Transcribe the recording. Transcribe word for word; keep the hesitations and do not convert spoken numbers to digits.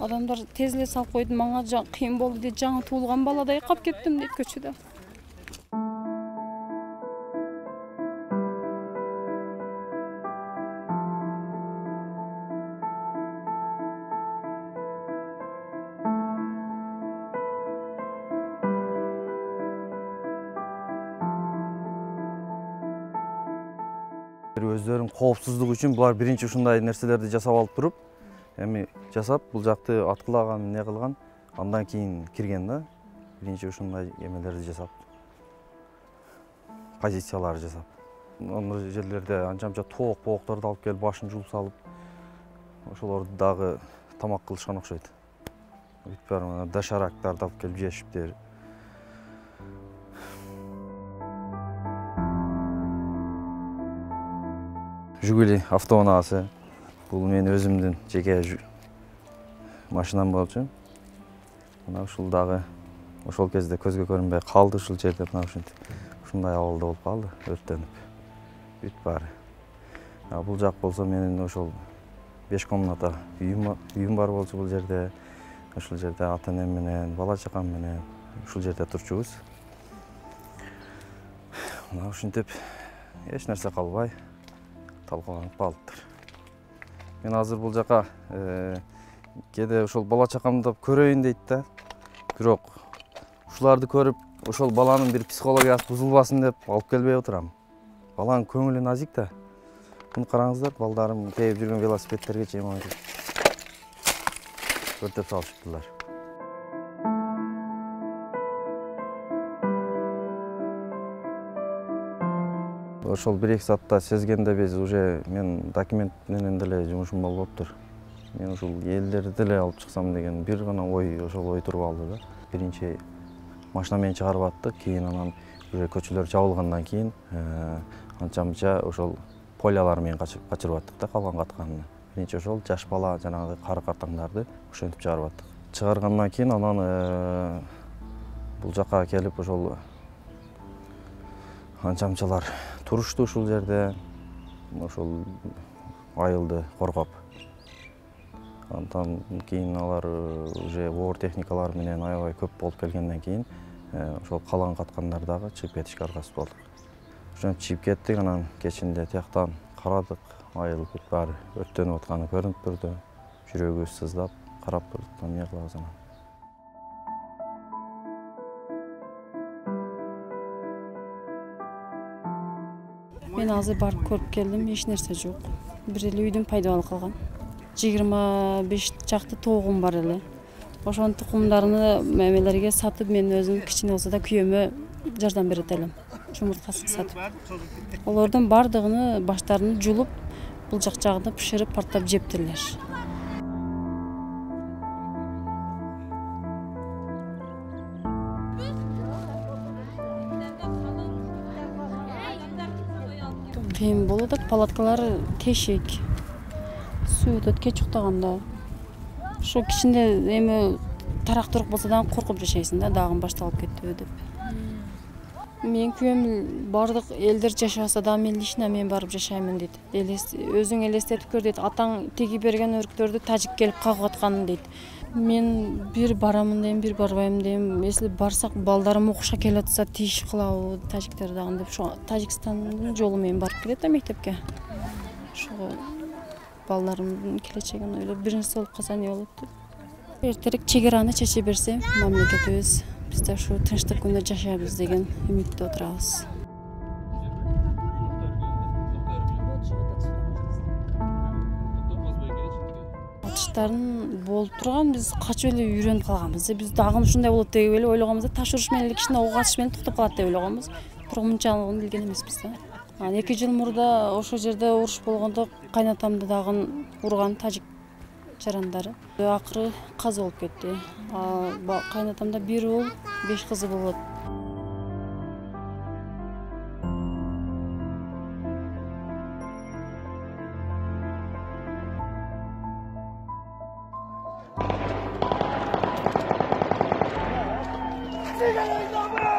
Адамдар тез эле салып койду, мага кыйын болду дейт, жаңы туулган баладай калып кеттим дейт көчөдө. Өздөрүнүн коопсуздугу үчүн булар биринчи ушундай нерселерди жасап алып туруп, эми жасап бул жакты аткылаган, не кылган, андан кийин кирген да. Биринчи ушундай эмелерди жасап, позициялар жасап. Аны жерлерде анча-мынча тоок-боокторду алып келип башын жууп салып, ошолорду дагы тамак кылышкан окшойт. Бүт баары дошарактарды алып келип жешиптир. Жигули автоунаасы. Бул мен өзүмдүн жеке машинам болчу. Мына ушул дагы ошол кезде көзгө көрүнбөй калды ушул жерде, мына ушинтип. Ушундай абалда болуп калды, өрттөнүп. Бүт баары. А бул жак болсо менин ошол беш комната үйүм үйүм бар болчу бул жерде. Ушул жерде ата-энем менен, бала чакам менен ушул жерде турчубуз. Мына ушинтип эч нерсе калбай талкаланып калыптыр. Мен азыр бул жака кээде ошол бала чакамды көрөйүн дейт да. Бирок ушуларды көрүп, ошол баланын бир психологиясы бузулбасын деп алып келбей отурам. Баланын көңүлү назик да. Муну караңыздар, балдарым кээп жүргөн велосипедтерге чейин өртөп салышыптылар. Ошол бир эки саатта сезгенде биз уже мен документ менен деле жумушум болуп тур. Мен ушул элдерди деле алып чыксам деген бир гана ой, ошол ой туруп алды да. Биринчи машина менен чыгарып аттык, кийин анан уже көчөлөр жабылгандан кийин анча-мынча ошол полялар менен качырып аттык да, калган катканын. Биринчи ошол жаш бала, жанагы кары картаңдарды ошентип чыгарып аттык. Чыгаргандан кийин анан бул жака келип ошол анча-мынчалар турушту ушул жерде, ошол айылды коргоп. Андан кийин алар уже оор техникалар менен аябай көп болуп келгенден кийин ошол калган каткандар дагы чыгып кетишке аргасыз болдук. Ошентип чыгып кеттик, анан кечинде тияктан карадык, айыл бүт баары өрттөнүп атканы көрүнүп турду. Жүрөгүбүз сыздап карап турдук, эмне кылабыз анан. Мен азыр барып көрүп келдим, эч нерсе жок. Бир эле үйдүн пайдабалы калган. жыйырма беш чакты тоогум бар эле. Ошонун тукумдарыны мемелерге сатып, мен өзүм кичине болсо да күйөөмө жардам берет элем. Жумурткасын сатып. Олордун бардыгын баштарын жулуп, бул жак жагында бышырып, парттап жептирлер. Кыйын болот, палаткалар тешик. Суу өтөт кеч уктаганда. Ошо кичине эми тарактуурук болсо дагы коркуп жашайсың да, дагы башталып кетпеби деп. Мен күйөөм бардык элдер жашаса да мен лично мен барып жашаймын дейт. Өзүң элестетип көр дейт. Атаң тиги берген өрктөрдү тажик келип кагып атканын дейт. Мен бир барамын дейм, бир барбайм дейм. Если барсак балдарым окушка келип атса тиеш кылабы тажиктер дагы деп. Ошо Тажикстандын жолу менен барып келет да мектепке. Ошого балдарымдын келечегин ойлоп, бир нерсе болуп калса эмне болот деп. Эртерээк чек араны чече берсе, мамлекетибиз биз да ушу тынчтык күндө жашайбыз деген үмүттө отурабыз. Атыштарын болуп турган, биз качып эле үйрөнүп калганбыз. Биз дагы ушундай болот деп эле ойлогонбуз да, таш уруш менен эле кичине ок атыш менен токтоп калат деп ойлогонбуз. Бирок мынчалыгын билген эмеспиз да. Анан эки жыл мурда ошол жерде уруш болгондо кайнатамды дагы урган тажик жарандары. Акыры каза болуп кетти. Кайнатамда бир уул, беш кызы болот. Sigan